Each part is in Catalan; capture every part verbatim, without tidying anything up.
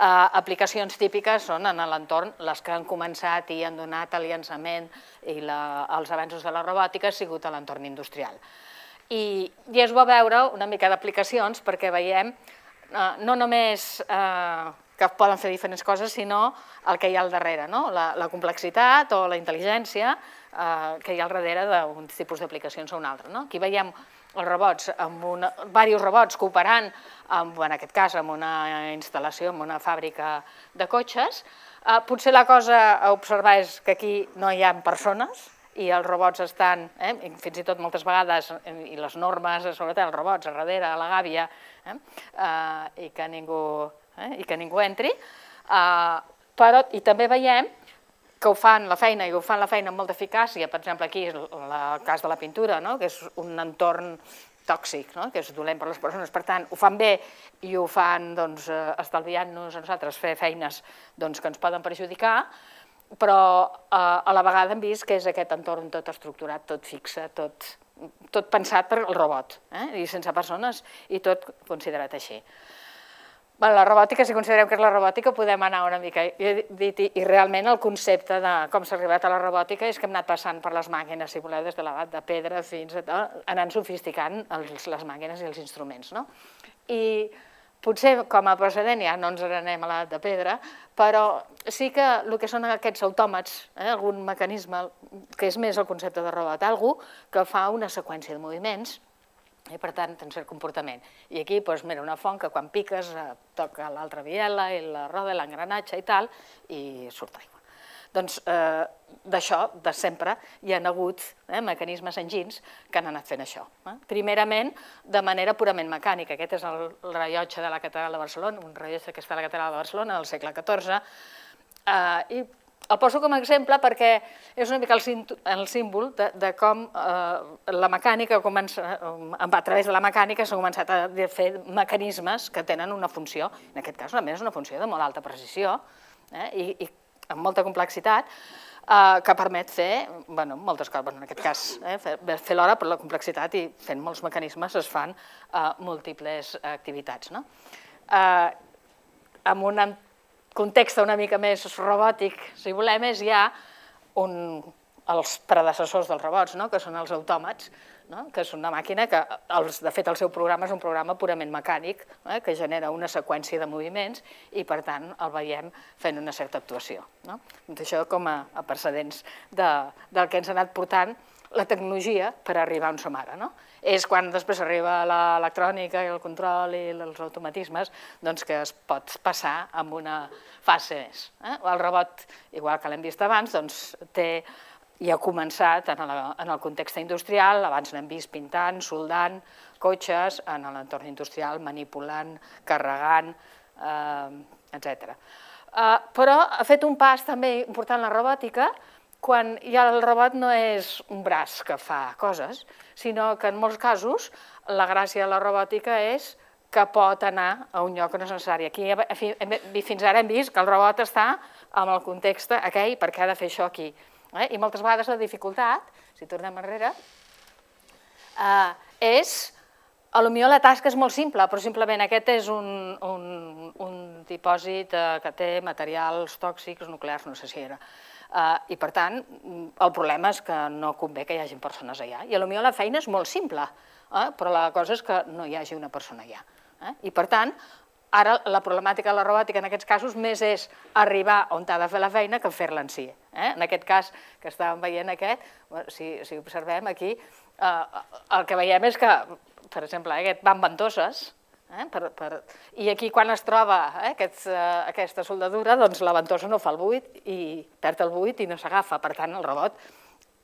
Aplicacions típiques són en l'entorn, les que han començat i han donat el llançament i els avenços de la robòtica ha sigut a l'entorn industrial. I és bo veure una mica d'aplicacions perquè veiem no només que poden fer diferents coses, sinó el que hi ha al darrere, la complexitat o la intel·ligència que hi ha al darrere d'un tipus d'aplicacions o un altre. Aquí veiem els robots, diversos robots cooperant, en aquest cas amb una instal·lació, en una fàbrica de cotxes. Potser la cosa a observar és que aquí no hi ha persones i els robots estan, fins i tot moltes vegades, i les normes, sobretot els robots, a darrere, a la gàbia, i que ningú entri. I també veiem que ho fan la feina, i ho fan la feina amb molta eficàcia. Per exemple, aquí és el cas de la pintura, que és un entorn tòxic, que és dolent per a les persones. Per tant, ho fan bé i ho fan estalviant-nos a nosaltres fer feines que ens poden perjudicar, però a la vegada hem vist que és aquest entorn tot estructurat, tot fixe, tot pensat per al robot, i sense persones, i tot considerat així. La robòtica, si considerem que és la robòtica, podem anar una mica, i realment el concepte de com s'ha arribat a la robòtica és que hem anat passant per les màquines, si voleu, des de l'edat de pedra fins a anant sofisticant les màquines i els instruments. I potser com a precedent ja no ens n'anem a l'edat de pedra, però sí que el que són aquests autòmats, algun mecanisme que és més el concepte de robot, algú que fa una seqüència de moviments, i per tant té un cert comportament. I aquí, doncs, mira, una font que quan piques toca l'altra biela i la roda, l'engranatge i tal, i surt aigua. Doncs d'això, de sempre, hi ha hagut mecanismes enginys que han anat fent això. Primerament, de manera purament mecànica. Aquest és el rellotge de la Catedral de Barcelona, un rellotge que està a la Catedral de Barcelona del segle catorze, i el poso com a exemple perquè és una mica el símbol de com la mecànica, a través de la mecànica s'han començat a fer mecanismes que tenen una funció, en aquest cas també és una funció de molt alta precisió i amb molta complexitat, que permet fer moltes coses, en aquest cas fer l'hora per la complexitat i fent molts mecanismes es fan múltiples activitats. Amb un context una mica més robòtic, si volem, és ja els predecessors dels robots, que són els autòmats, que és una màquina que, de fet, el seu programa és un programa purament mecànic, que genera una seqüència de moviments i, per tant, el veiem fent una certa actuació. Això com a precedents del que ens ha anat portant la tecnologia per arribar on som ara. És quan després arriba l'electrònica i el control i els automatismes que es pot passar a una fase més. El robot, igual que l'hem vist abans, té i ha començat en el context industrial, abans n'hem vist pintant, soldant, cotxes, en l'entorn industrial, manipulant, carregant, etcètera. Però ha fet un pas també important la robòtica quan ja el robot no és un braç que fa coses, sinó que en molts casos la gràcia de la robòtica és que pot anar a un lloc que no és necessari. Fins ara hem vist que el robot està en el context aquell perquè ha de fer això aquí. I moltes vegades la dificultat, si tornem enrere, és, potser la tasca és molt simple, però simplement aquest és un dipòsit que té materials tòxics, nuclears, no sé si era. I, per tant, el problema és que no convé que hi hagi persones allà. I potser la feina és molt simple, però la cosa és que no hi hagi una persona allà. I, per tant, ara la problemàtica de la robòtica en aquests casos més és arribar on ha de fer la feina que fer-la en si. En aquest cas que estàvem veient aquest, si observem aquí, el que veiem és que, per exemple, aquest va amb ventoses, i aquí quan es troba aquesta soldadura, doncs la ventosa no fa el buit i perd el buit i no s'agafa. Per tant, el robot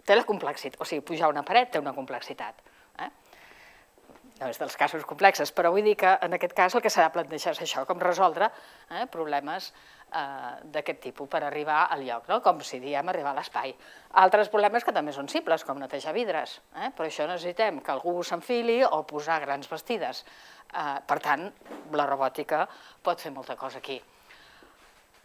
té la complexitat, o sigui, pujar una paret té una complexitat. No és dels casos complexes, però vull dir que en aquest cas el que s'ha de plantejar és això, com resoldre problemes d'aquest tipus per arribar al lloc, com si diem arribar a l'espai. Altres problemes que també són simples, com netejar vidres, però això necessitem que algú s'enfili o posar grans bastides. Per tant, la robòtica pot fer molta cosa aquí.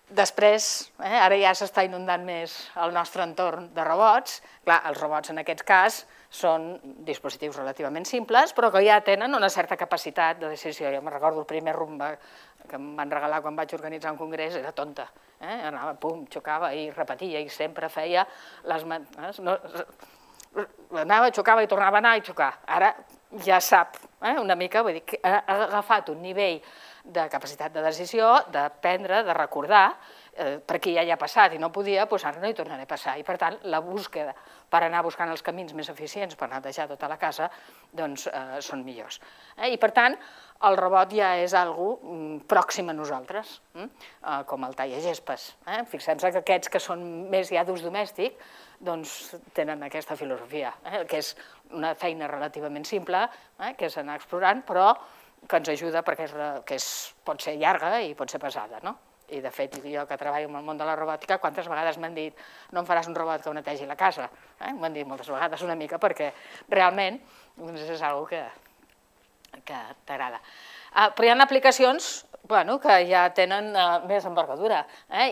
Després, ara ja s'està inundant més el nostre entorn de robots. Clar, els robots en aquest cas són dispositius relativament simples, però que ja tenen una certa capacitat de decisió. Jo me'n recordo el primer rumba que em van regalar quan vaig organitzar un congrés, era tonta. Anava, pum, xocava i repetia i sempre feia les... Anava, xocava i tornava a anar i xocar. Ara ja sap una mica, vull dir, que ha agafat un nivell de capacitat de decisió, d'aprendre, de recordar, perquè ja hi ha passat i no podia, doncs ara no hi tornaré a passar. I per tant, la búsqueda per anar buscant els camins més eficients per netejar tota la casa, doncs són millors. I per tant, el robot ja és algo pròxim a nosaltres, com el tallagespes. Fixem-se que aquests que són més ja d'ús domèstic, doncs tenen aquesta filosofia, que és una feina relativament simple, que és anar explorant, però que ens ajuda perquè pot ser llarga i pot ser pesada, no? I de fet, jo que treballo en el món de la robòtica, quantes vegades m'han dit no em faràs un robot que ho netegi la casa? M'ho han dit moltes vegades una mica perquè realment és una cosa que t'agrada. Però hi ha aplicacions que ja tenen més envergadura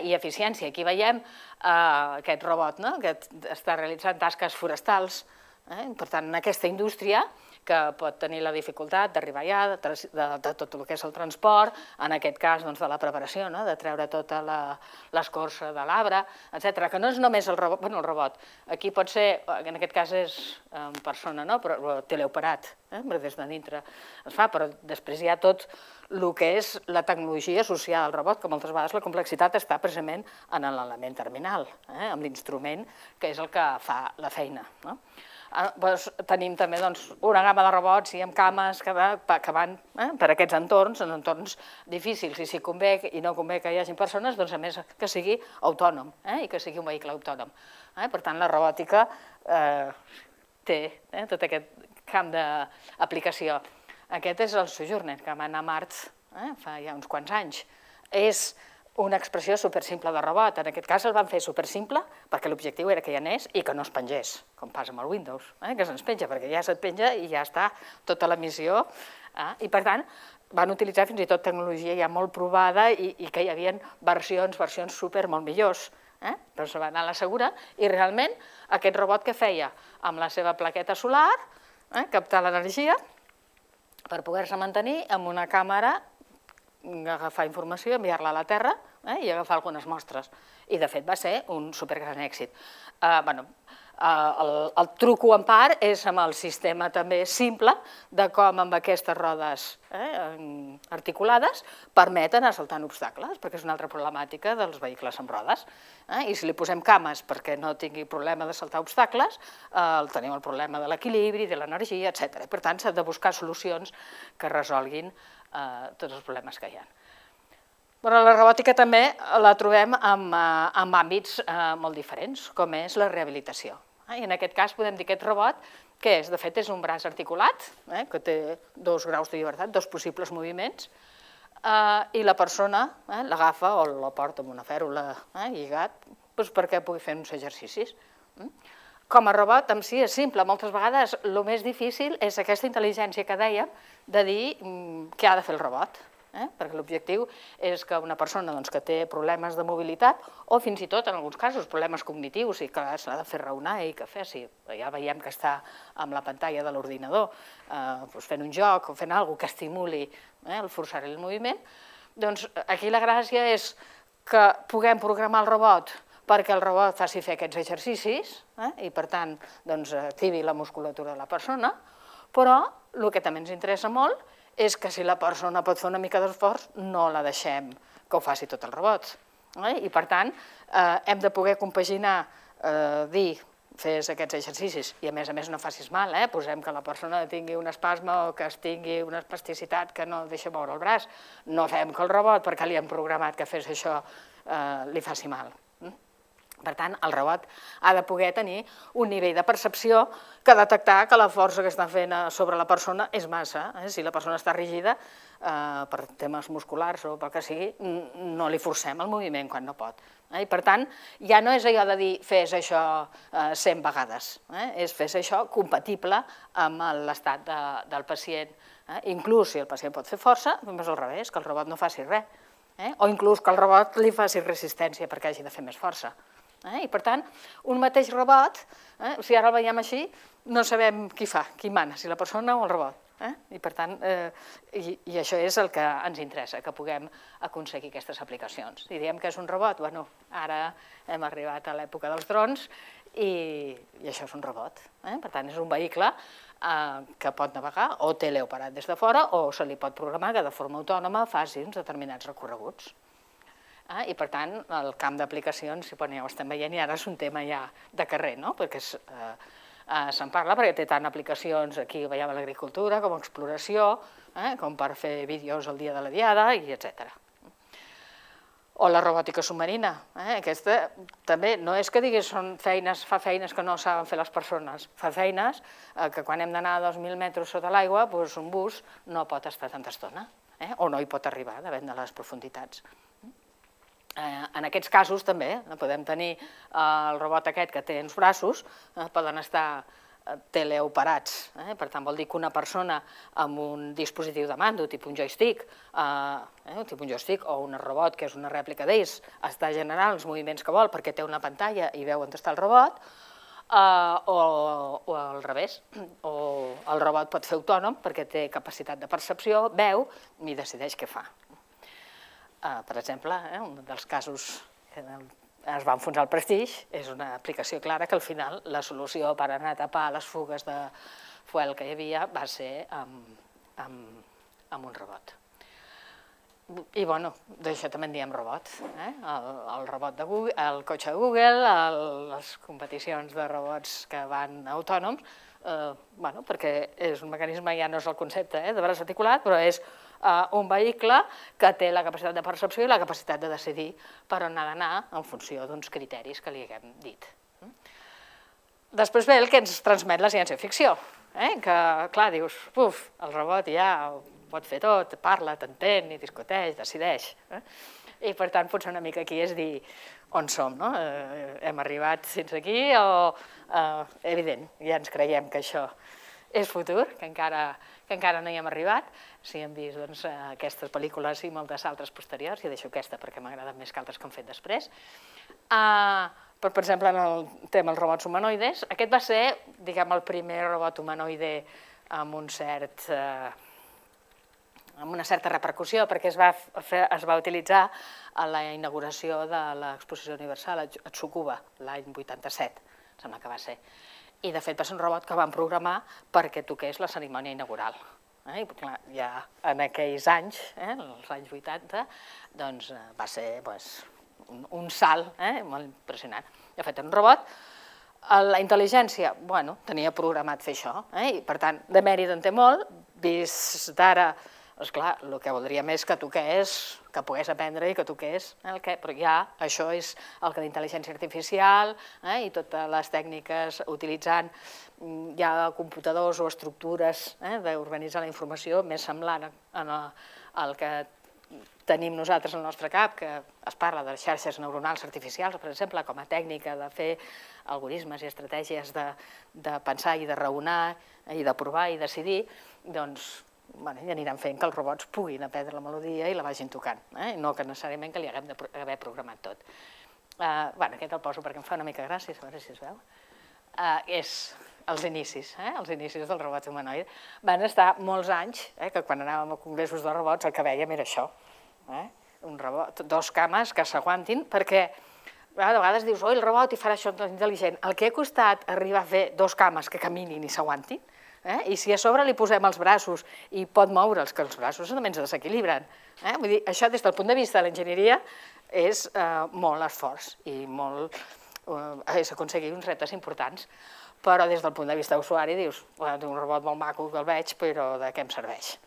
i eficiència. Aquí veiem aquest robot que està realitzant tasques forestals. Per tant, en aquesta indústria que pot tenir la dificultat d'arribar allà, de tot el que és el transport, en aquest cas de la preparació, de treure tota l'escorça de l'arbre, etcètera, que no és només el robot, bueno, el robot, aquí pot ser, en aquest cas és en persona, però teleoperat, des de dintre es fa, però després hi ha tot el que és la tecnologia associada al robot, que moltes vegades la complexitat està precisament en l'element terminal, en l'instrument que és el que fa la feina. Tenim també una gamma de robots i amb cames que van per aquests entorns, en entorns difícils, i si convé i no convé que hi hagi persones, doncs a més que sigui autònom i que sigui un vehicle autònom. Per tant, la robòtica té tot aquest camp d'aplicació. Aquest és el Sojourner, que va anar a Mart fa ja uns quants anys. És una expressió supersimple de robot. En aquest cas el van fer supersimple perquè l'objectiu era que hi anés i que no es pengés, com passa amb el Windows, que se'ns penja, perquè ja se't penja i ja està tota la missió. I per tant, van utilitzar fins i tot tecnologia ja molt provada i que hi havia versions, versions super molt millors. Però se va anar a la segura i realment aquest robot que feia amb la seva plaqueta solar, captar l'energia per poder-se mantenir amb una càmera, agafar informació, enviar-la a la Terra i agafar algunes mostres. I, de fet, va ser un supergran èxit. El truco en part és amb el sistema també simple de com amb aquestes rodes articulades permeten assaltar obstacles, perquè és una altra problemàtica dels vehicles amb rodes. I si li posem cames perquè no tingui problema de saltar obstacles, tenim el problema de l'equilibri, de l'energia, etcètera. Per tant, s'ha de buscar solucions que resolguin tots els problemes que hi ha. Però la robòtica també la trobem en àmbits molt diferents, com és la rehabilitació. I en aquest cas podem dir que aquest robot, què és? De fet, és un braç articulat, que té dos graus de llibertat, dos possibles moviments, i la persona l'agafa o la porta amb una fèrula lligat perquè pugui fer uns exercicis. Com a robot en si és simple, moltes vegades el més difícil és aquesta intel·ligència que dèiem de dir què ha de fer el robot, perquè l'objectiu és que una persona que té problemes de mobilitat o fins i tot, en alguns casos, problemes cognitius i que s'ha de fer raonar i que fessi, ja veiem que està amb la pantalla de l'ordinador fent un joc o fent alguna cosa que estimuli el forçar-li el moviment, doncs aquí la gràcia és que puguem programar el robot perquè el robot faci fer aquests exercicis i, per tant, activi la musculatura de la persona, però el que també ens interessa molt és que si la persona pot fer una mica d'esforç, no la deixem que ho faci tot el robot. I, per tant, hem de poder compaginar, dir, fes aquests exercicis i, a més a més, no facis mal, posem que la persona tingui un espasme o que tingui una espasticitat que no deixa moure el braç. No fem que el robot, perquè li hem programat que fes això, li faci mal. Per tant, el robot ha de poder tenir un nivell de percepció que detectar que la força que està fent sobre la persona és massa. Si la persona està rígida, per temes musculars o pel que sigui, no li forcem el moviment quan no pot. I, per tant, ja no és allò de dir fes això cent vegades, és fes això compatible amb l'estat del pacient. Inclús si el pacient pot fer força, és al revés, que el robot no faci res. O inclús que el robot li faci resistència perquè hagi de fer més força. I per tant, un mateix robot, si ara el veiem així, no sabem qui fa, qui mana, si la persona o el robot. I per tant, i això és el que ens interessa, que puguem aconseguir aquestes aplicacions. Si diem que és un robot, bueno, ara hem arribat a l'època dels drons i això és un robot. Per tant, és un vehicle que pot navegar o teleoperat des de fora o se li pot programar que de forma autònoma faci uns determinats recorreguts. I per tant, el camp d'aplicacions, si ja ho estem veient, i ara és un tema ja de carrer, perquè se'n parla perquè té tant aplicacions, aquí veiem a l'agricultura, com a exploració, com per fer vídeos el dia de la diada, i etcètera. O la robòtica submarina. Aquesta també no és que diguis són feines, fa feines que no saben fer les persones, fa feines que quan hem d'anar a dos mil metres sota l'aigua, un bus no pot estar tanta estona, o no hi pot arribar, depèn de les profunditats. En aquests casos també podem tenir el robot aquest que té uns braços, poden estar teleoperats, per tant vol dir que una persona amb un dispositiu de mando, tipus un joystick, tipus un joystick o un robot que és una rèplica d'ells, està generant els moviments que vol perquè té una pantalla i veu on està el robot, o al revés, o el robot pot fer autònom perquè té capacitat de percepció, veu i decideix què fa. Per exemple, un dels casos que es va enfonsar el Prestige és una aplicació clara que al final la solució per anar a tapar les fugues de fuel que hi havia va ser amb un robot. I bueno, d'això també en diem robot. El robot de Google, el cotxe de Google, les competicions de robots que van autònoms, perquè és un mecanisme, ja no és el concepte de braç articulat, però és un vehicle que té la capacitat de percepció i la capacitat de decidir per on ha d'anar en funció d'uns criteris que li haguem dit. Després ve el que ens transmet la ciència-ficció, que, clar, dius, uf, el robot ja ho pot fer tot, parla, t'entén, i discuteix, decideix. I per tant, potser una mica aquí és dir on som, no? Hem arribat fins aquí o, evident, ja ens creiem que això és futur, que encara no hi hem arribat, si hem vist aquestes pel·lícules i moltes altres posteriors, i deixo aquesta perquè m'agraden més que altres que han fet després. Per exemple, en el tema dels robots humanoides, aquest va ser, diguem, el primer robot humanoide amb un cert amb una certa repercussió, perquè es va utilitzar a la inauguració de l'Exposició Universal a Tsukuba, l'any vuitanta-set, sembla que va ser. I, de fet, va ser un robot que van programar perquè toqués la cerimònia inaugural. Ja en aquells anys, els anys vuitanta, doncs va ser un salt molt impressionant. De fet, un robot, la intel·ligència, bueno, tenia programat fer això, i per tant, de mèrit en té molt, vist d'ara, esclar, el que voldríem és que toqués, que pogués aprendre i que toqués el que, però ja això és el que l'intel·ligència artificial i totes les tècniques utilitzant ja computadors o estructures d'organitzar la informació més semblant al que tenim nosaltres al nostre cap, que es parla de xarxes neuronals artificials, per exemple, com a tècnica de fer algoritmes i estratègies de pensar i de raonar i de provar i decidir, doncs i aniran fent que els robots puguin aprendre la melodia i la vagin tocant, no que necessàriament que li haguem d'haver programat tot. Aquest el poso perquè em fa una mica gràcia, a veure si es veu. És els inicis, els inicis dels robots humanoides. Van estar molts anys, que quan anàvem a congressos de robots el que vèiem era això, un robot, dos cames que s'aguantin, perquè a vegades dius, oi, el robot i farà això intel·ligent. El que ha costat arribar a fer dos cames que caminin i s'aguantin, i si a sobre li posem els braços i pot moure'ls, que els braços també ens desequilibren. Vull dir, això des del punt de vista de l'enginyeria és molt esforç i molt... és aconseguir uns reptes importants, però des del punt de vista d'usuari dius, un robot molt maco que el veig, però de què em serveix?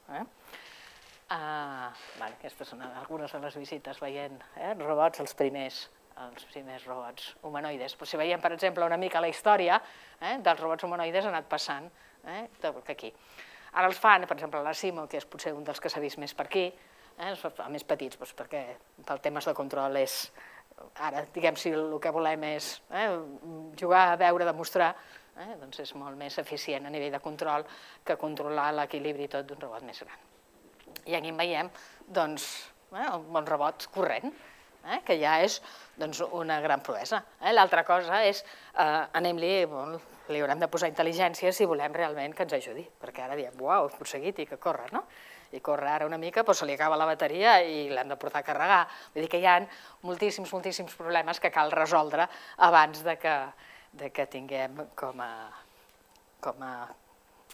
Aquestes són algunes de les visites veient robots, els primers els primers robots humanoides. Si veiem, per exemple, una mica la història dels robots humanoides ha anat passant aquí. Ara els fan, per exemple, la Simo, que és potser un dels que s'ha vist més per aquí, els fa més petits, perquè pel temes de control és... Ara, diguem, si el que volem és jugar, veure, demostrar, doncs és molt més eficient a nivell de control que controlar l'equilibri tot d'un robot més gran. I aquí en veiem, doncs, un robot corrent, que ja és una gran proesa. L'altra cosa és, anem-li, li haurem de posar intel·ligència si volem realment que ens ajudi, perquè ara diem, uau, he aconseguit i que corre, no? I corre ara una mica, però se li acaba la bateria i l'hem de portar a carregar. Vull dir que hi ha moltíssims, moltíssims problemes que cal resoldre abans que tinguem com a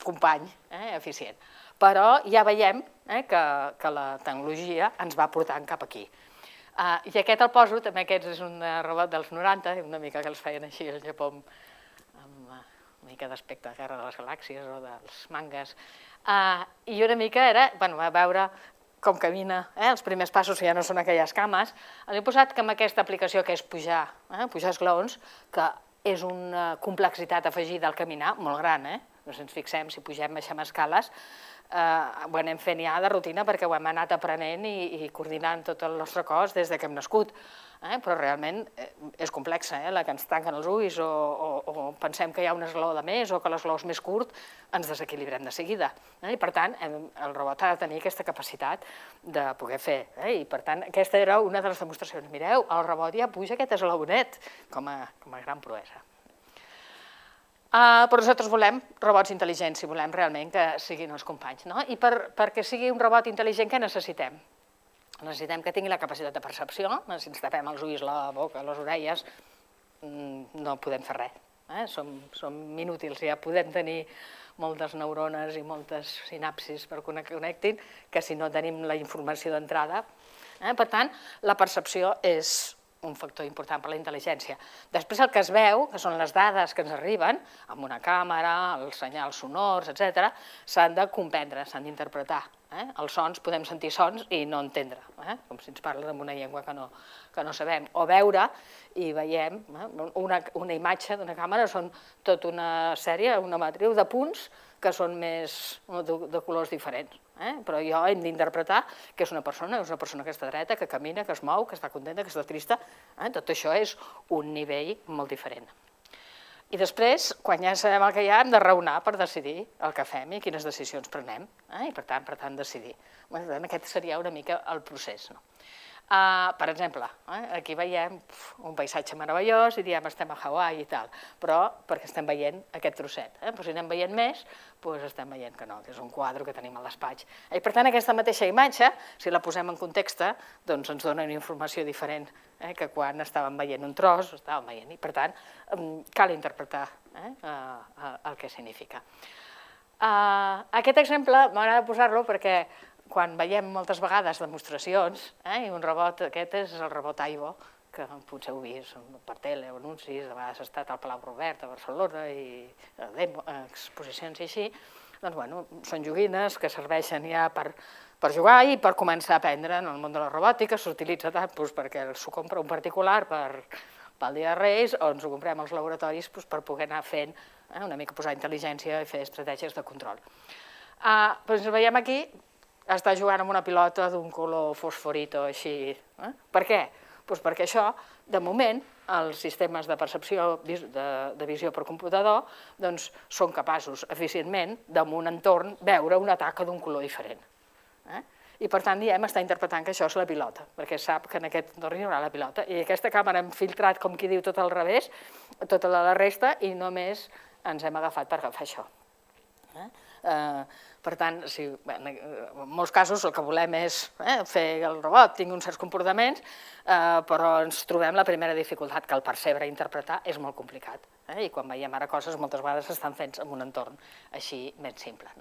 company eficient. Però ja veiem que la tecnologia ens va portant cap aquí. I aquest el poso, també aquest és un robot dels noranta, una mica que els feien així al Japó amb una mica d'aspecte de Guerra de les Galàxies o dels mangas. I una mica era, bueno, a veure com camina, els primers passos ja no són aquelles cames. L'he posat amb aquesta aplicació que és pujar, pujar esglaons, que és una complexitat afegida al caminar molt gran, eh? Si ens fixem, si pugem, baixem escales, ho anem fent ja de rutina perquè ho hem anat aprenent i coordinant tot el nostre cos des que hem nascut. Però realment és complexa, la que ens tanquen els ulls o pensem que hi ha un esglaó de més o que l'esglaó és més curt, ens desequilibrem de seguida. I per tant, el robot ha de tenir aquesta capacitat de poder fer. I per tant, aquesta era una de les demostracions. Mireu, el robot ja puja aquest esglaonet com a gran proesa. Però nosaltres volem robots intel·ligents i volem realment que siguin els companys. I perquè sigui un robot intel·ligent, què necessitem? Necessitem que tingui la capacitat de percepció, si ens tapem els ulls, la boca, les orelles, no podem fer res. Som inútils, ja podem tenir moltes neurones i moltes sinapsis per que connectin, que si no tenim la informació d'entrada. Per tant, la percepció és un factor important per a la intel·ligència. Després el que es veu, que són les dades que ens arriben, amb una càmera, els senyals sonors, etcètera, s'han de comprendre, s'han d'interpretar. Els sons, podem sentir sons i no entendre, com si ens parlen en una llengua que no sabem. O veure i veiem, una imatge d'una càmera són tota una sèrie, una matriu de punts que són de colors diferents. Però jo hem d'interpretar que és una persona, és una persona que està dreta, que camina, que es mou, que està contenta, que està trista. Tot això és un nivell molt diferent. I després, quan ja sabem el que hi ha, hem de raonar per decidir el que fem i quines decisions prenem. I per tant, per tant, decidir. Aquest seria una mica el procés. Per exemple, aquí veiem un paisatge meravellós i diem estem a Hawaii i tal, però perquè estem veient aquest trosset. Però si anem veient més, doncs estem veient que no, que és un quadre que tenim al despatx. I per tant, aquesta mateixa imatge, si la posem en context, doncs ens dona una informació diferent que quan estàvem veient un tros, estàvem veient. I per tant, cal interpretar el que significa. Aquest exemple m'agrada posar-lo perquè quan veiem moltes vegades demostracions, i un robot, aquest és el robot Aibo, que potser heu vist per tele o anuncis, a vegades ha estat al Palau Robert a Barcelona i exposicions i així, doncs, bueno, són joguines que serveixen ja per jugar i per començar a aprendre en el món de la robòtica. S'utilitza tant perquè s'ho compra un particular pel dia de Reis o ens ho comprem als laboratoris per poder anar fent una mica posar intel·ligència i fer estratègies de control. Doncs veiem aquí, està jugant amb una pilota d'un color fosforito així. Per què? Doncs perquè això, de moment, els sistemes de percepció de visió per computador són capaços eficientment, en un entorn, veure una taca d'un color diferent. I per tant, diem, està interpretant que això és la pilota, perquè sap que en aquest entorn hi haurà la pilota. I aquesta càmera hem filtrat, com qui diu, tot al revés, tota la resta, i només ens hem agafat per agafar això. Per tant, en molts casos el que volem és fer que el robot tingui uns certs comportaments, però ens trobem la primera dificultat, que el percebre i interpretar és molt complicat. I quan veiem ara coses, moltes vegades estan fets en un entorn així més simple.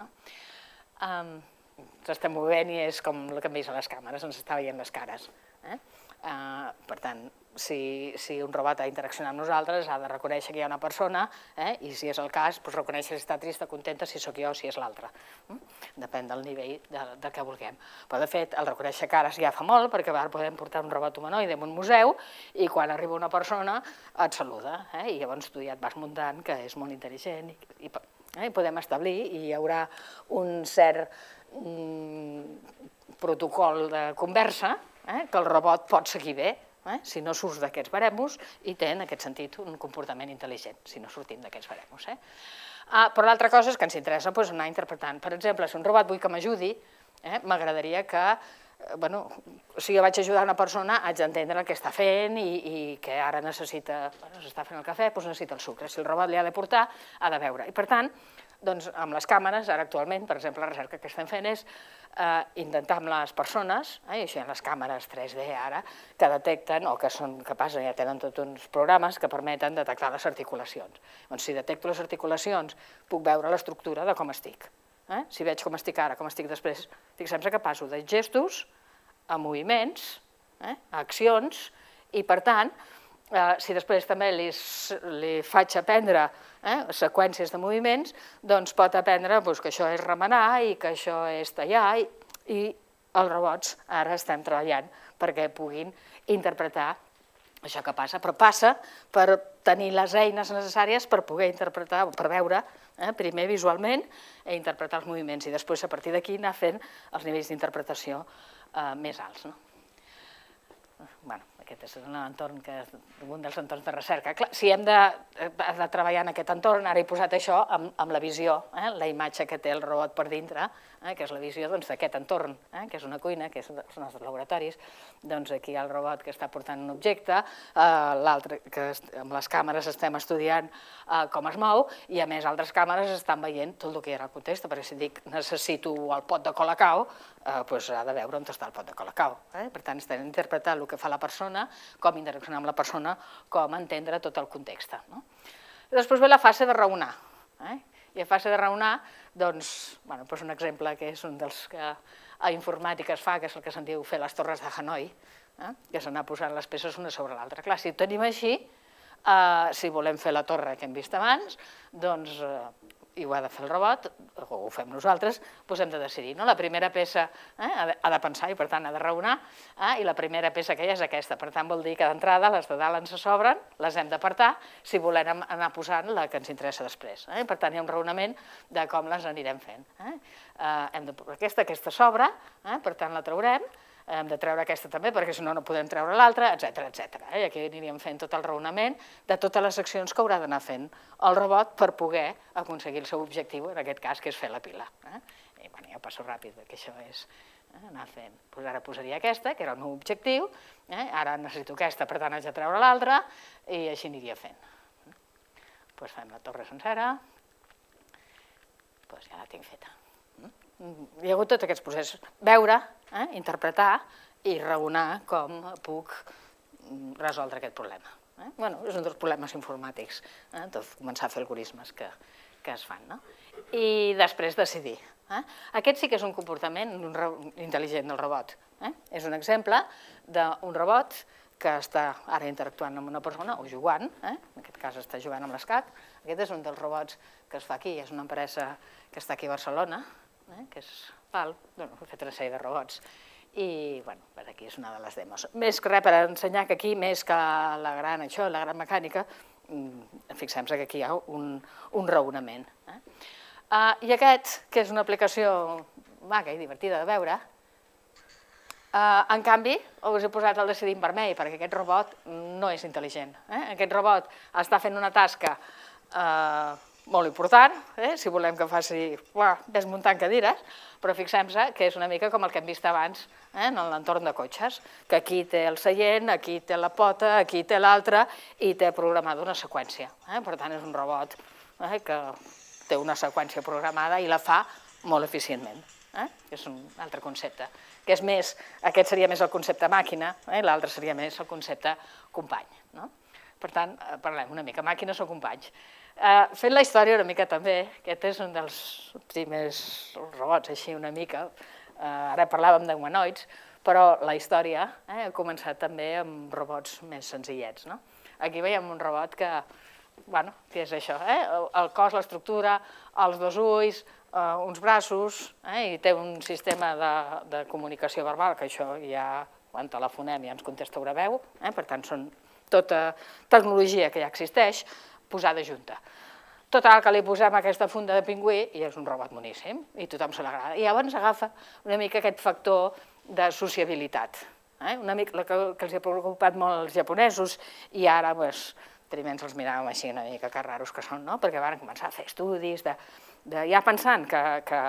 Ens estem movent i és com el que hem vist a les càmeres, ens està veient les cares. Per tant, si un robot ha d'interaccionar amb nosaltres, ha de reconèixer que hi ha una persona i, si és el cas, reconèixer si està trista, contenta, si sóc jo o si és l'altre. Depèn del nivell del que vulguem. Però, de fet, el reconèixer cares ja fa molt, perquè ara podem portar un robot humanoide en un museu i quan arriba una persona et saluda. I llavors tu ja et vas muntant que és molt intel·ligent i podem establir i hi haurà un cert protocol de conversa que el robot pot seguir bé, si no surts d'aquests baremos i té, en aquest sentit, un comportament intel·ligent, si no sortim d'aquests baremos. Però l'altra cosa és que ens interessa anar interpretant. Per exemple, si un robot vull que m'ajudi, m'agradaria que bueno, si jo vaig ajudar una persona, haig d'entendre el que està fent i que ara necessita, bueno, s'està fent el cafè, doncs necessita el sucre. Si el robot li ha de portar, ha de veure. I per tant, doncs amb les càmeres, ara actualment, per exemple, la recerca que estem fent és intentar amb les persones, i això hi ha les càmeres tres D ara, que detecten, o que són capaces, ja tenen tots uns programes que permeten detectar les articulacions. Doncs si detecto les articulacions, puc veure l'estructura de com estic. Si veig com estic ara, com estic després, estic sempre capaç de gestos, a moviments, a accions, i per tant, si després també li faig aprendre seqüències de moviments, doncs pot aprendre que això és remenar i que això és tallar, i els robots ara estem treballant perquè puguin interpretar això que passa, però passa per tenir les eines necessàries per poder interpretar, per veure primer visualment i interpretar els moviments, i després a partir d'aquí anar fent els nivells d'interpretació més alts. Bé, aquest és un dels entorns de recerca. Si hem de treballar en aquest entorn, ara he posat això amb la visió, la imatge que té el robot per dintre, que és la visió d'aquest entorn, que és una cuina, que són els nostres laboratoris. Doncs aquí hi ha el robot que està portant un objecte, l'altre que amb les càmeres estem estudiant com es mou, i a més altres càmeres estan veient tot el que hi ha al context, perquè si dic necessito el pot de Colacao, doncs ha de veure on està el pot de Colacao. Per tant, estem interpretant el que fa la persona, com interaccionar amb la persona, com entendre tot el context. Després ve la fase de raonar. I a fase de raonar, doncs, un exemple que és un dels que a informàtica es fa, que és el que se'n diu fer les torres de Hanoi, que és anar posant les peces una sobre l'altra. Clar, si ho tenim així, si volem fer la torre que hem vist abans, doncs, i ho ha de fer el robot, o ho fem nosaltres, doncs hem de decidir. La primera peça ha de pensar i, per tant, ha de raonar, i la primera peça que hi ha és aquesta. Per tant, vol dir que d'entrada les de dalt ens sobren, les hem d'apartar, si volem anar posant la que ens interessa després. Per tant, hi ha un raonament de com les anirem fent. Hem de posar aquesta, aquesta sobra, per tant, la traurem, hem de treure aquesta també, perquè si no, no podem treure l'altra, etcètera, etcètera. I aquí aniríem fent tot el raonament de totes les accions que haurà d'anar fent el robot per poder aconseguir el seu objectiu, en aquest cas, que és fer la pila. I ja passo ràpid, perquè això és anar fent. Ara posaria aquesta, que era el meu objectiu, ara necessito aquesta, per tant, haig de treure l'altra, i així aniria fent. Doncs fem la torre sencera, doncs ja la tinc feta. Hi ha hagut tots aquests processos. Veure, interpretar i raonar com puc resoldre aquest problema. Bé, és un dels problemes informàtics, començar a fer algoritmes que es fan. I després decidir. Aquest sí que és un comportament intel·ligent del robot. És un exemple d'un robot que està ara interactuant amb una persona o jugant, en aquest cas està jugant amb l'escac. Aquest és un dels robots que es fa aquí, és una empresa que està aquí a Barcelona, que és PAL, he fet una sèrie de robots, i aquí és una de les demos. Més que res per ensenyar que aquí, més que la gran això, la gran mecànica, fixem-se que aquí hi ha un raonament. I aquest, que és una aplicació maca i divertida de veure, en canvi, us he posat el decidint vermell, perquè aquest robot no és intel·ligent. Aquest robot està fent una tasca molt important, si volem que faci desmuntant cadires, però fixem-se que és una mica com el que hem vist abans en l'entorn de cotxes, que aquí té el seient, aquí té la pota, aquí té l'altra, i té programada una seqüència. Per tant, és un robot que té una seqüència programada i la fa molt eficientment. És un altre concepte, que és més, aquest seria més el concepte màquina, l'altre seria més el concepte company. Per tant, parlem una mica, màquines o companys. Fent la història una mica també, aquest és un dels primers robots, així una mica, ara parlàvem d'humanoids, però la història ha començat també amb robots més senzillets. Aquí veiem un robot que, bueno, què és això? El cos, l'estructura, els dos ulls, uns braços, i té un sistema de comunicació verbal, que això ja, quan telefonem ja ens contesta una veu, per tant, són tota tecnologia que ja existeix, posada junta. Total, que li posem aquesta funda de pingüí i és un robot boníssim, i tothom se l'agrada. I llavors agafa una mica aquest factor de sociabilitat, una mica que els ha preocupat molt els japonesos, i ara, primer ens els miràvem així una mica que raros que són, perquè van començar a fer estudis, ja pensant que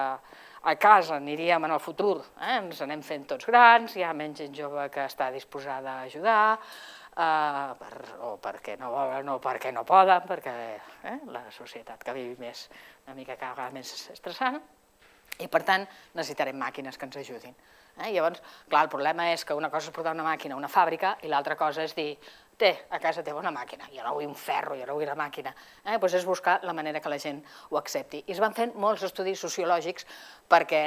a casa aniríem en el futur, eh? Ens anem fent tots grans, hi ha menys gent jove que està disposada a ajudar, eh, per, o perquè no volen o perquè no poden, perquè eh, la societat que vivim és una mica cada vegada més estressant, i per tant necessitarem màquines que ens ajudin. Eh? Llavors, clar, el problema és que una cosa és portar una màquina a una fàbrica i l'altra cosa és dir, té, a casa teva una màquina, jo no vull un ferro, jo no vull la màquina. Eh? Doncs és buscar la manera que la gent ho accepti. I es van fent molts estudis sociològics perquè,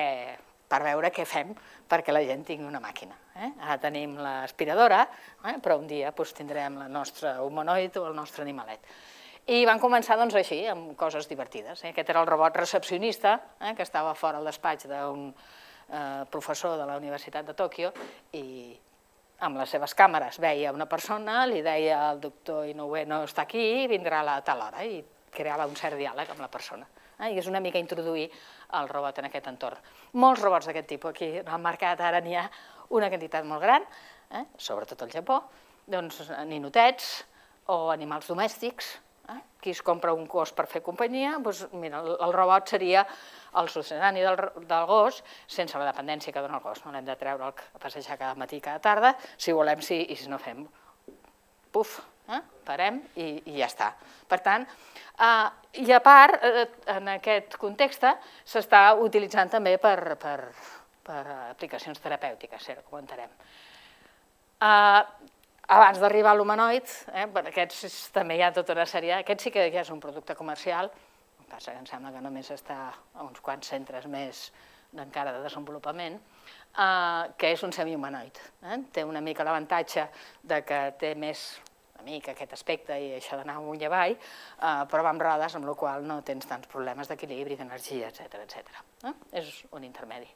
per veure què fem perquè la gent tingui una màquina. Eh? Ara tenim l'aspiradora, eh? Però un dia doncs, tindrem el nostre humanoid o el nostre animalet. I van començar doncs, així, amb coses divertides. Eh? Aquest era el robot recepcionista, eh? Que estava fora al despatx d'un eh, professor de la Universitat de Tòquio i amb les seves càmeres veia una persona, li deia el doctor Inoue no està aquí, vindrà a tal hora, i creava un cert diàleg amb la persona. I és una mica introduir el robot en aquest entorn. Molts robots d'aquest tipus, aquí al mercat ara n'hi ha una quantitat molt gran, eh? Sobretot al Japó, doncs ninotets o animals domèstics. Eh? Qui es compra un gos per fer companyia, doncs, mira, el, el robot seria el succedani del, del gos sense la dependència que dona el gos. No l'hem de treure a passejar cada matí, cada tarda, si volem sí, i si no fem, puf, eh? Parem i, i ja està. Per tant, eh, i a part, eh, en aquest context, s'està utilitzant també per, per, per aplicacions terapèutiques, ara ho comentarem. Eh, Abans d'arribar a l'humanoid, eh, per aquests també hi ha tota una sèrie, aquest sí que ja és un producte comercial, el que passa que em sembla que només està a uns quants centres més encara de desenvolupament, eh, que és un semihumanoid. Eh? Té una mica l'avantatge de que té més una mica aquest aspecte i això d'anar amunt i avall, eh, però va amb rodes, amb la qual no tens tants problemes d'equilibri, d'energia, etcètera, etcètera. Eh? És un intermedi.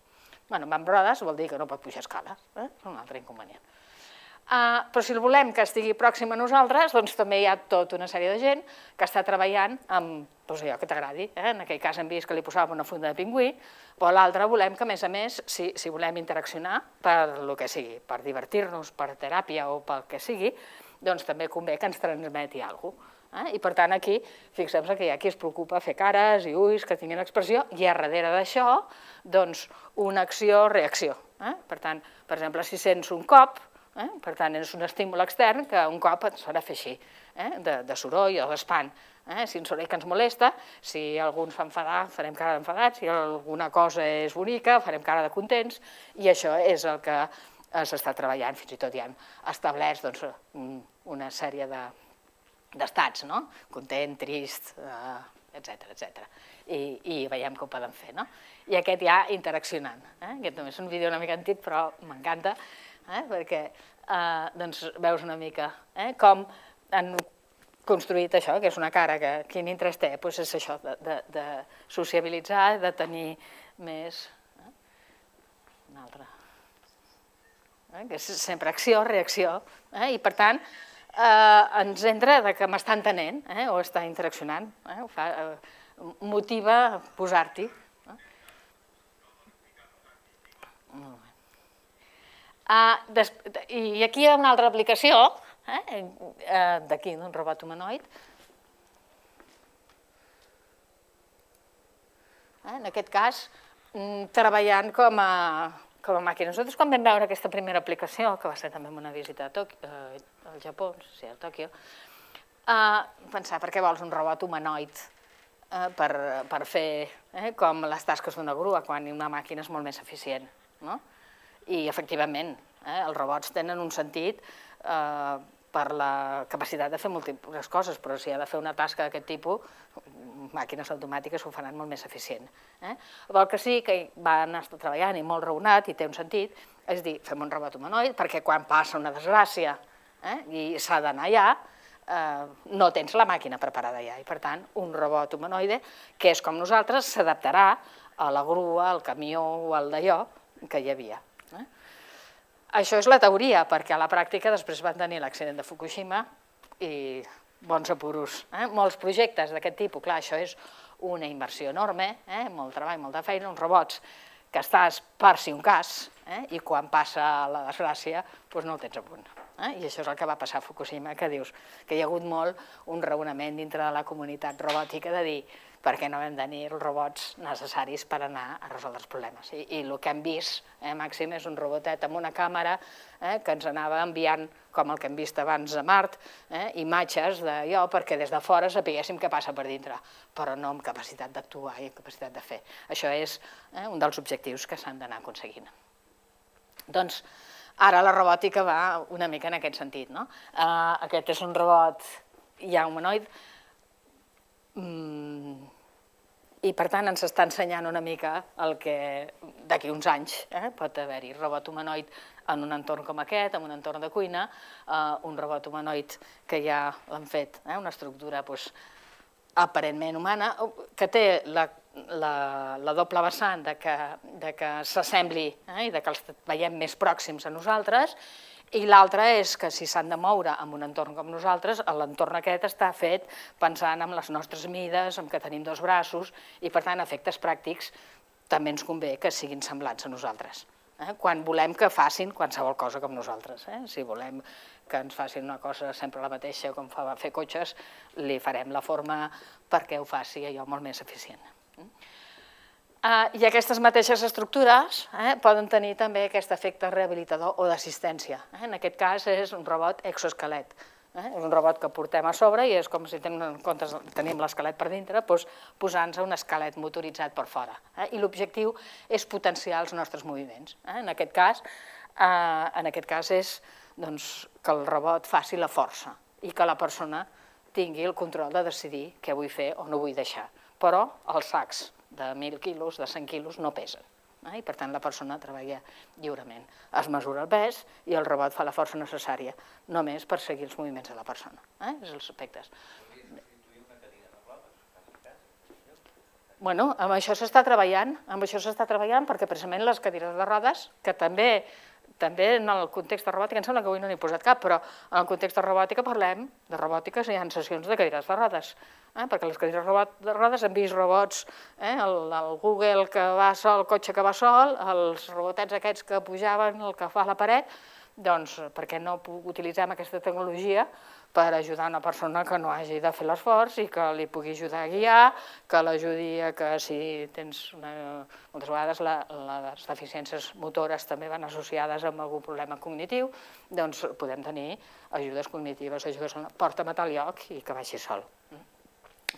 Bueno, va amb rodes vol dir que no pot pujar escales, eh? És un altre inconvenient. Uh, però si el volem que estigui pròxim a nosaltres, doncs també hi ha tota una sèrie de gent que està treballant amb doncs allò que t'agradi. Eh? En aquell cas hem vist que li posàvem una funda de pingüí, però l'altre volem que, a més a més, si, si volem interaccionar per el que sigui, per divertir-nos, per teràpia o pel que sigui, doncs també convé que ens transmeti alguna cosa. Eh? I per tant aquí, fixem-se que hi ha qui es preocupa a fer cares i ulls que tinguin expressió i a darrere d'això, doncs, una acció-reacció. Eh? Per tant, per exemple, si sents un cop, Eh? Per tant, és un estímul extern que un cop ens farà fer així, eh? de, de soroll o d'espant. Eh? Si un soroll que ens molesta, si algú ens fa enfadar, farem cara d'enfadats, si alguna cosa és bonica, farem cara de contents, i això és el que s'està treballant, fins i tot hi ha establerts doncs, una sèrie d'estats, de, no? Content, trist, eh, etcètera, etcètera. I, I veiem que ho poden fer, no? I aquest ja interaccionant. Eh? Aquest també és un vídeo una mica antic, però m'encanta, eh? perquè eh, doncs veus una mica eh? com han construït això, que és una cara que quin interès té, doncs és això, de, de, de sociabilitzar, de tenir més... Eh? Una altra... Eh? Que és sempre acció, reacció, eh? I per tant eh, ens entra de que m'està entenent eh? o està interaccionant, eh? Ho fa, eh, motiva posar-t'hi. Eh? Molt bé. Uh, I aquí hi ha una altra aplicació, eh, d'aquí, d'un robot humanoid. Eh, en aquest cas, treballant com a, com a màquina. Nosaltres quan vam veure aquesta primera aplicació, que va ser també una visita a Tòquio, eh, al Japó, no sé si a Tòquio, eh, pensar, per què vols un robot humanoid eh, per, per fer eh, com les tasques d'una grua, quan una màquina és molt més eficient, no? I, efectivament, eh, els robots tenen un sentit eh, per la capacitat de fer múltiples coses, però si ha de fer una tasca d'aquest tipus, màquines automàtiques ho faran molt més eficient. Eh? El que sí que van estar treballant i molt raonat, i té un sentit, és dir, fem un robot humanoid, perquè quan passa una desgràcia eh, i s'ha d'anar allà, eh, no tens la màquina preparada allà. I, per tant, un robot humanoide, que és com nosaltres, s'adaptarà a la grua, al camió o al d'allò que hi havia. Eh? Això és la teoria, perquè a la pràctica després van tenir l'accident de Fukushima i bons apuros. Eh? Molts projectes d'aquest tipus, clar, això és una inversió enorme, eh? Molt treball, molta feina, uns robots que estàs per si un cas, eh? I quan passa la desgràcia doncs no el tens a punt. Eh? I això és el que va passar a Fukushima, que dius que hi ha hagut molt un raonament dintre de la comunitat robòtica de dir perquè no vam tenir els robots necessaris per anar a resoldre els problemes. I, i el que hem vist, eh, Màxim, és un robotet amb una càmera eh, que ens anava enviant, com el que hem vist abans a Mart, eh, imatges d'allò perquè des de fora sapiguéssim què passa per dintre, però no amb capacitat d'actuar i capacitat de fer. Això és eh, un dels objectius que s'han d'anar aconseguint. Doncs ara la robòtica va una mica en aquest sentit, no? Uh, aquest és un robot ja humanoid, i per tant ens està ensenyant una mica el que d'aquí uns anys eh, pot haver-hi robot humanoid en un entorn com aquest, en un entorn de cuina, eh, un robot humanoid que ja l'han fet, eh, una estructura doncs, aparentment humana, que té la, la, la doble vessant de que, de que s'assembli eh, i de que els veiem més pròxims a nosaltres, i l'altre és que si s'han de moure en un entorn com nosaltres, l'entorn aquest està fet pensant en les nostres mides, en que tenim dos braços, i per tant, a efectes pràctics, també ens convé que siguin semblants a nosaltres. Eh? Quan volem que facin qualsevol cosa com nosaltres. Eh? Si volem que ens facin una cosa sempre la mateixa, com fa fer cotxes, li farem la forma perquè ho faci allò molt més eficient. Uh, I aquestes mateixes estructures eh, poden tenir també aquest efecte rehabilitador o d'assistència. Eh? En aquest cas és un robot exoesquelet. Eh? És un robot que portem a sobre i és com si tenim, en comptes, tenim l'esquelet per dintre, doncs, posant-se un esquelet motoritzat per fora. Eh? I l'objectiu és potenciar els nostres moviments. Eh? En aquest cas, eh, en aquest cas és doncs, que el robot faci la força i que la persona tingui el control de decidir què vull fer o no vull deixar. Però els sacs de mil quilos, de cent quilos, no pesen. Eh? I per tant la persona treballa lliurement. Es mesura el pes i el robot fa la força necessària, només per seguir els moviments de la persona. Eh? És els aspectes. Bueno, amb això s'està treballant, amb això s'està treballant perquè precisament les cadires de rodes, que també també en el context de robòtica, em sembla que avui no n'he posat cap, però en el context de robòtica parlem de robòtiques i hi ha sessions de cadires de rodes, eh? perquè les cadires de rodes hem vist robots, eh? el, el Google que va sol, el cotxe que va sol, els robotets aquests que pujaven, el que fa a la paret, doncs per què no utilitzem aquesta tecnologia per ajudar una persona que no hagi de fer l'esforç i que li pugui ajudar a guiar, que l'ajudi a que si tens una... Moltes vegades la, les deficiències motores també van associades amb algun problema cognitiu, doncs podem tenir ajudes cognitives, ajudes a porta'm a tal lloc i que vagi sol.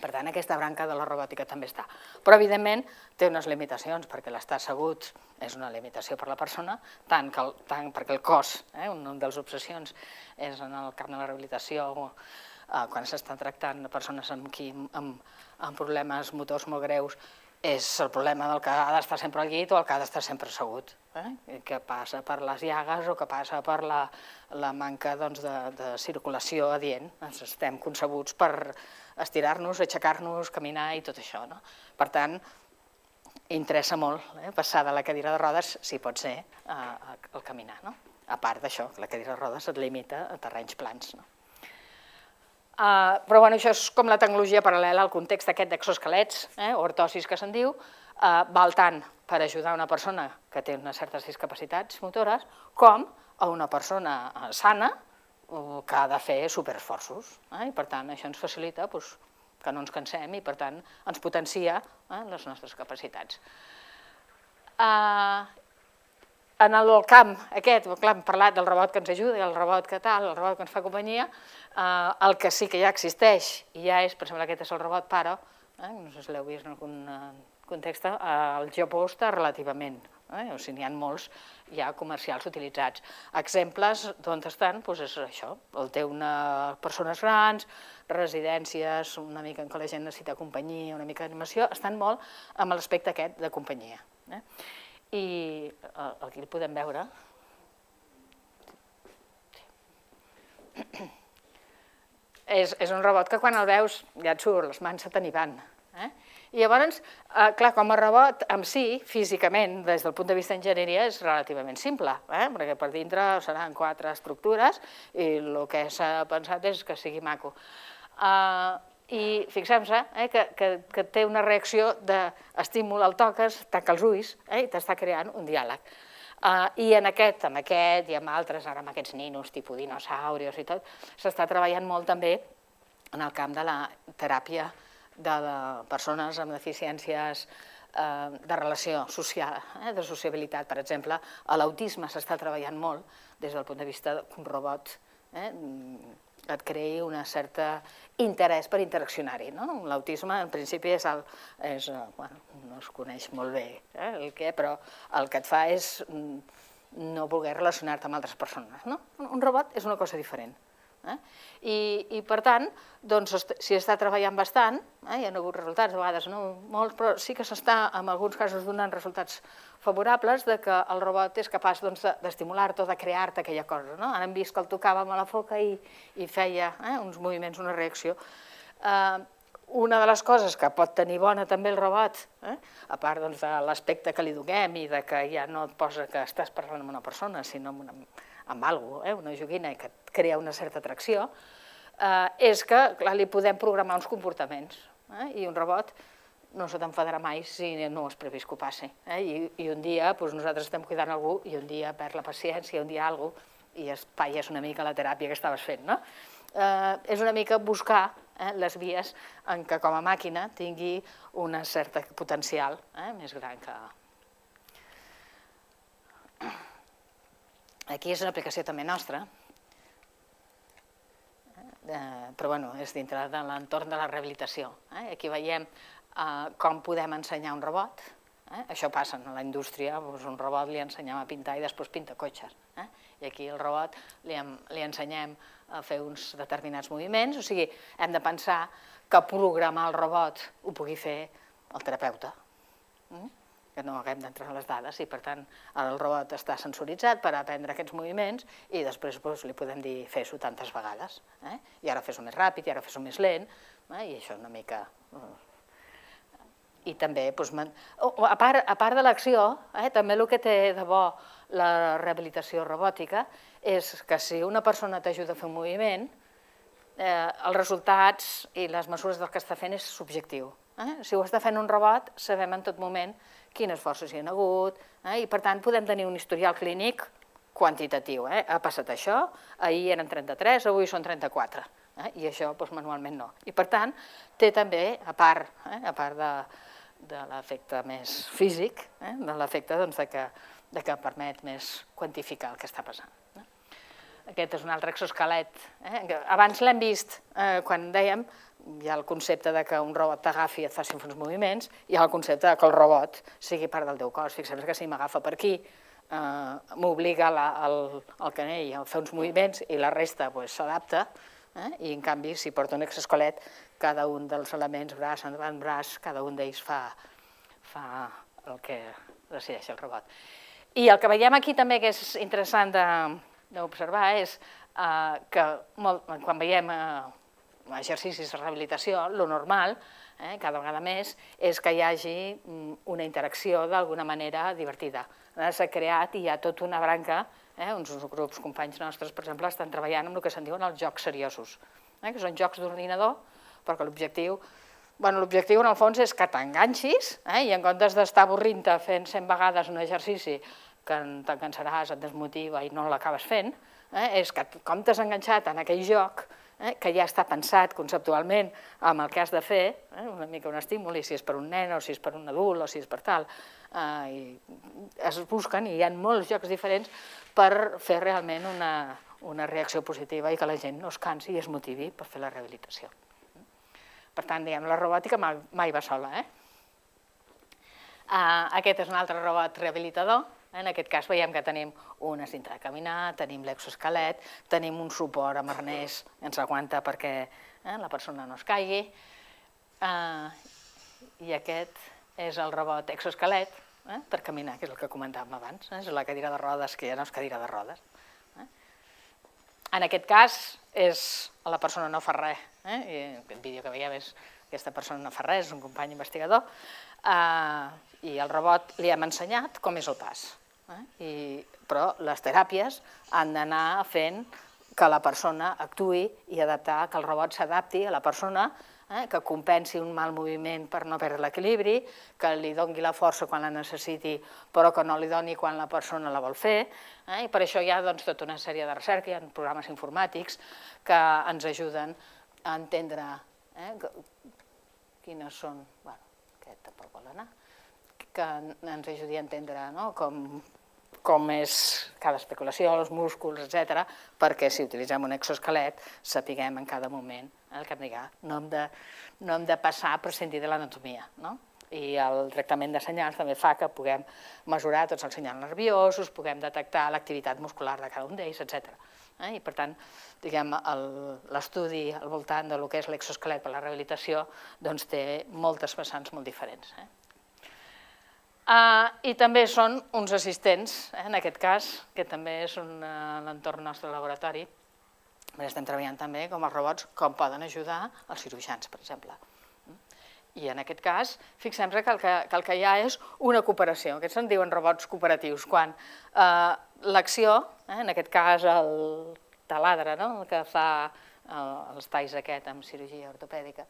Per tant, aquesta branca de la robòtica també està. Però, evidentment, té unes limitacions, perquè l'estar assegut és una limitació per a la persona, tant, que el, tant perquè el cos, eh, una de les obsessions és en el camp de la rehabilitació, eh, quan s'estan tractant persones amb, qui, amb, amb problemes motors molt greus, és el problema del que ha d'estar sempre al llit o el que ha d'estar sempre assegut, eh? que passa per les llagues o que passa per la, la manca doncs, de, de circulació adient. Ens estem concebuts per estirar-nos, aixecar-nos, caminar i tot això. No? Per tant, interessa molt eh? passar de la cadira de rodes, si pot ser, al caminar. No? A part d'això, la cadira de rodes et limita a terrenys plans. No? Uh, però bueno, això és com la tecnologia paral·lela al context aquest d'exoesquelets, eh, o ortosis que se'n diu, uh, val tant per ajudar una persona que té unes certes discapacitats motores com a una persona sana uh, que ha de fer superesforços. Eh, I per tant això ens facilita pues, que no ens cansem i per tant ens potencia eh, les nostres capacitats. Uh, En el camp aquest, clar, hem parlat del robot que ens ajuda, el robot que tal, el robot que ens fa companyia, eh, el que sí que ja existeix, i ja és, per exemple, aquest és el robot Paro, eh, no sé si l'heu vist en algun context, al Japó està relativament, eh, o sigui, n'hi ha molts ja comercials utilitzats. Exemples d'on estan, doncs és això, el té una persones grans, residències, una mica en què la gent necessita companyia, una mica d'animació, estan molt amb l'aspecte aquest de companyia. Eh? I aquí el podem veure. És, és un robot que quan el veus ja et surt, les mans se te n'hi van. Eh? I llavors, eh, clar, com a robot en si, físicament, des del punt de vista d'enginyeria, és relativament simple, eh? perquè per dintre seran quatre estructures i el que s'ha pensat és que sigui maco. Eh, I fixem-se eh, que, que, que té una reacció d'estímul, el toques, tanca els ulls eh, i t'està creant un diàleg. Uh, I en aquest, amb aquest i amb altres, ara amb aquests ninos, tipus dinosaurios i tot, s'està treballant molt també en el camp de la teràpia de persones amb deficiències de relació social, de sociabilitat. Per exemple, a l'autisme s'està treballant molt des del punt de vista que un robot et creï un cert interès per interaccionar-hi. L'autisme, en principi, és, no es coneix molt bé el què, però el que et fa és no voler relacionar-te amb altres persones. Un robot és una cosa diferent. I, per tant, s'hi està treballant bastant, hi ha hagut resultats, a vegades no molts, però sí que s'està, en alguns casos, donant resultats favorables de que el robot és capaç d'estimular-te o de crear-te aquella cosa. Ara hem vist que el tocàvem a la foca i feia uns moviments, una reacció. Una de les coses que pot tenir bona també el robot, a part de l'aspecte que li donem i que ja no et posa que estàs parlant amb una persona, sinó amb una amb alguna cosa, una joguina que et crea una certa atracció, és que li podem programar uns comportaments. I un robot no se t'enfadarà mai si no has previst que ho passi. I un dia nosaltres estem cuidant algú i un dia perd la paciència, un dia alguna cosa, i espatlles una mica la teràpia que estaves fent. És una mica buscar les vies en què com a màquina tingui un cert potencial més gran que... Aquí és una aplicació també nostra, però és dintre de l'entorn de la rehabilitació. Aquí veiem com podem ensenyar un robot. Això passa a la indústria, un robot li ensenyem a pintar i després pinta cotxes. I aquí el robot li ensenyem a fer uns determinats moviments, o sigui, hem de pensar que programar el robot ho pugui fer el terapeuta, que no haguem d'entrar a les dades i, per tant, el robot està sensoritzat per aprendre aquests moviments i després li podem dir fes-ho tantes vegades. I ara fes-ho més ràpid, i ara fes-ho més lent, i això una mica... I també, a part de l'acció, també el que té de bo la rehabilitació robòtica és que si una persona t'ajuda a fer un moviment, els resultats i les mesures del que està fent és subjectiu. Si ho està fent un robot, sabem en tot moment quines forces hi ha hagut i, per tant, podem tenir un historial clínic quantitatiu. Ha passat això, ahir eren trenta-tres, avui són trenta-quatre, i això manualment no. I, per tant, té també, a part de l'efecte més físic, de l'efecte que permet més quantificar el que està passant. Aquest és un altre exoesquelet. Abans l'hem vist quan dèiem, hi ha el concepte que un robot t'agafi i et faci uns moviments, i hi ha el concepte que el robot sigui part del teu cos. Fixem-nos que si m'agafa per aquí, m'obliga el canell a fer uns moviments i la resta s'adapta, i en canvi si porta un exoesquelet, cada un dels elements, braç, avantbraç, cada un d'ells fa el que decideix el robot. I el que veiem aquí també que és interessant d'observar és que quan veiem exercicis de rehabilitació, el normal, cada vegada més, és que hi hagi una interacció d'alguna manera divertida. S'ha creat i hi ha tota una branca, uns grups companys nostres, per exemple, estan treballant amb el que se'n diuen els jocs seriosos, que són jocs d'ordinador, perquè l'objectiu, l'objectiu en el fons és que t'enganxis i en comptes d'estar avorrint-te fent cent vegades un exercici que te'n cansaràs, et desmotiva i no l'acabes fent, és que com t'has enganxat en aquell joc que ja està pensat conceptualment amb el que has de fer, una mica un estímul, si és per un nen o si és per un adult o si és per tal, es busquen i hi ha molts jocs diferents per fer realment una reacció positiva i que la gent no es cansi i es motivi per fer la rehabilitació. Per tant, diguem, la robòtica mai va sola. Aquest és un altre robot rehabilitador. En aquest cas veiem que tenim una cinta de caminar, tenim l'exoesquelet, tenim un suport amb arnès que ens aguanta perquè la persona no es caigui. I aquest és el robot exoesquelet per caminar, que és el que comentàvem abans. És la cadira de rodes, que ja no és cadira de rodes. En aquest cas, la persona no fa res. Aquest vídeo que veiem és que aquesta persona no fa res, és un company investigador, i el robot li hem ensenyat com és el pas. Però les teràpies han d'anar fent que la persona actuï i adaptar, que el robot s'adapti a la persona, que compensi un mal moviment per no perdre l'equilibri, que li doni la força quan la necessiti, però que no li doni quan la persona la vol fer. I per això hi ha tota una sèrie de recerca, hi ha programes informàtics que ens ajuden a entendre quines són, bueno, aquest tampoc vol anar, que ens ajudi a entendre com és cada especulació, els músculs, etcètera, perquè si utilitzem un exoesquelet sapiguem en cada moment el que hem de dir. No hem de passar a prescindir de l'anatomia. I el tractament de senyals també fa que puguem mesurar tots els senyals nerviosos, puguem detectar l'activitat muscular de cada un d'ells, etcètera. I per tant, l'estudi al voltant del que és l'exoesquelet per a la rehabilitació té moltes vessants molt diferents. I també són uns assistents, en aquest cas, que també és l'entorn nostre laboratori, estem treballant també com els robots, com poden ajudar els cirurgians, per exemple. I en aquest cas, fixem-nos que el que hi ha és una cooperació, aquests se'n diuen robots cooperatius, quan l'acció, en aquest cas el taladre, el que fa els talls aquest amb cirurgia ortopèdica,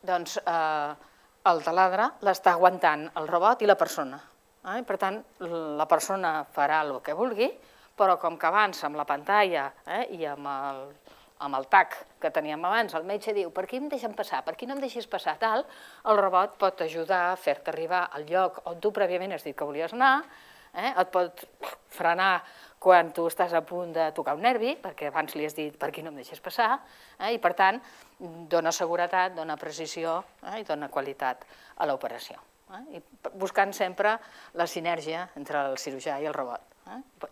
doncs el taladre l'està aguantant el robot i la persona. Per tant, la persona farà el que vulgui, però com que abans amb la pantalla i amb el tac que teníem abans, el metge diu per aquí em deixen passar, per aquí no em deixis passar, tal, el robot pot ajudar a fer-te arribar al lloc on tu prèviament has dit que volies anar, et pot frenar quan tu estàs a punt de tocar un nervi, perquè abans li has dit per aquí no em deixis passar, i per tant dona seguretat, dona precisió i dona qualitat a l'operació. Buscant sempre la sinergia entre el cirurgià i el robot.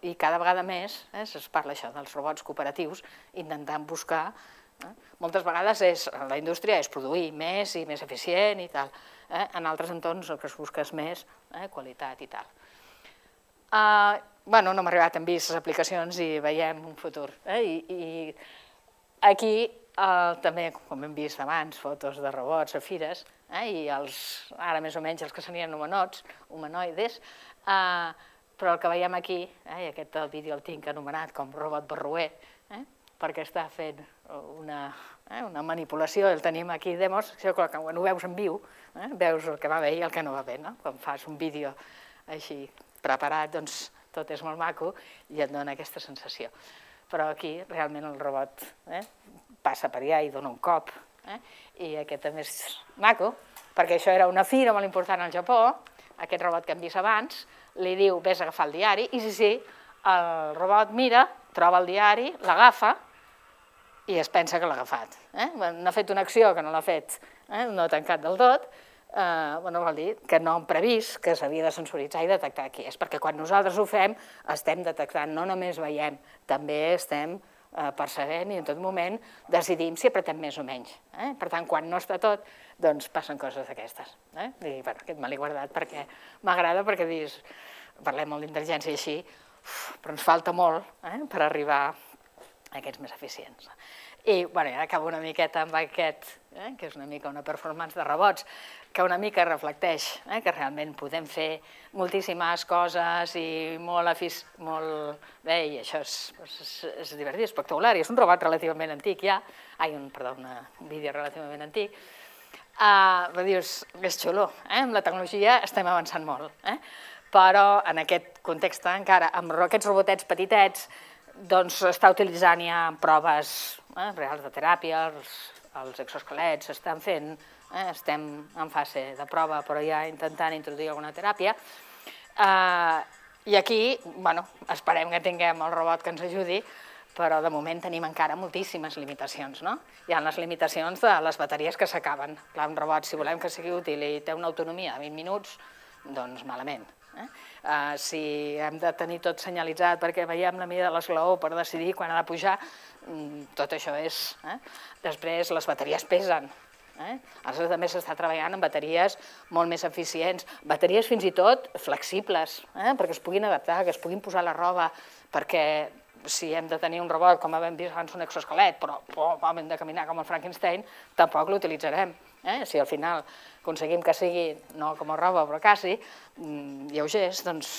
I cada vegada més es parla això dels robots cooperatius, intentant buscar, moltes vegades la indústria és produir més i més eficient i tal, en altres entorns el que es busca és més qualitat i tal. Bueno, no hem arribat, hem vist les aplicacions i veiem un futur. I aquí també, com hem vist abans, fotos de robots a fires, i ara més o menys els que serien humanoides, però el que veiem aquí, i aquest vídeo el tinc anomenat com robot barroer, perquè està fent una manipulació, el tenim aquí demos, quan ho veus en viu, veus el que va bé i el que no va bé. Quan fas un vídeo així preparat, doncs tot és molt maco i et dona aquesta sensació. Però aquí realment el robot passa per allà i dona un cop, i aquest també és maco, perquè això era una fira molt important al Japó, aquest robot que hem vist abans, li diu vés a agafar el diari, i sí, sí, el robot mira, troba el diari, l'agafa i es pensa que l'ha agafat. No ha fet una acció que no l'ha fet, no ha tancat del tot, vol dir que no hem previst que s'havia de sensoritzar i detectar qui és, perquè quan nosaltres ho fem estem detectant, no només veiem, també estem percebent i en tot moment decidim si apretem més o menys. Per tant, quan no està tot, doncs passen coses d'aquestes. I aquest me l'he guardat perquè m'agrada, perquè dius, parlem molt d'intel·ligència i així, però ens falta molt per arribar a aquests més eficients. I ara acabo una miqueta amb aquest, que és una mica una performance de robots, que una mica reflecteix que realment podem fer moltíssimes coses i molt bé, i això és divertit, espectacular, i és un robot relativament antic ja, ai, perdó, un vídeo relativament antic, però dius, és xulo, amb la tecnologia estem avançant molt, però en aquest context encara, amb aquests robotets petitets, doncs està utilitzant ja proves reals de teràpia, els exoesquelets s'estan fent, estem en fase de prova, però ja intentant introduir alguna teràpia. I aquí, bueno, esperem que tinguem el robot que ens ajudi, però de moment tenim encara moltíssimes limitacions. Hi ha les limitacions de les bateries que s'acaben. Clar, un robot, si volem que sigui útil i té una autonomia de vint minuts, doncs malament. Si hem de tenir tot senyalitzat perquè veiem la mida de l'esglaó per decidir quan ha de pujar, tot això és. Després, les bateries pesen. Aleshores, també s'està treballant amb bateries molt més eficients, bateries fins i tot flexibles, perquè es puguin adaptar, que es puguin posar a la roba, perquè si hem de tenir un robot, com hem vist abans un exoesquelet, però hem de caminar com el Frankenstein, tampoc l'utilitzarem. Si al final aconseguim que sigui, no com a roba, però quasi, lleugers, doncs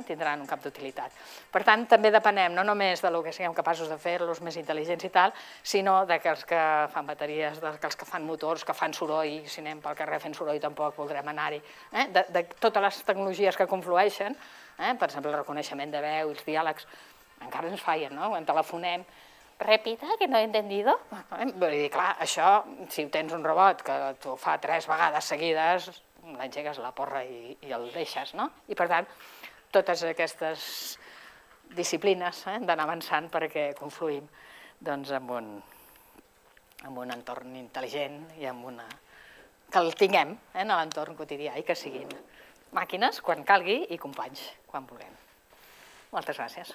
tindran un camp d'utilitat. Per tant, també depenem no només del que siguem capaços de fer-los més intel·ligents i tal, sinó que els que fan bateries, que els que fan motors, que fan soroll, si anem pel carrer fent soroll tampoc voldrem anar-hi, de totes les tecnologies que conflueixen, per exemple, el reconeixement de veu i els diàlegs, encara ens fallen, no? Quan telefonem, repita, que no he entendido. Vull dir, clar, això, si tens un robot que t'ho fa tres vegades seguides, l'engegues la porra i, i el deixes, no? I per tant, totes aquestes disciplines eh, han d'anar avançant perquè confluïm doncs, en, un, en un entorn intel·ligent i en una... que el tinguem eh, en l'entorn quotidià i que siguin màquines quan calgui i companys quan vulguem. Moltes gràcies.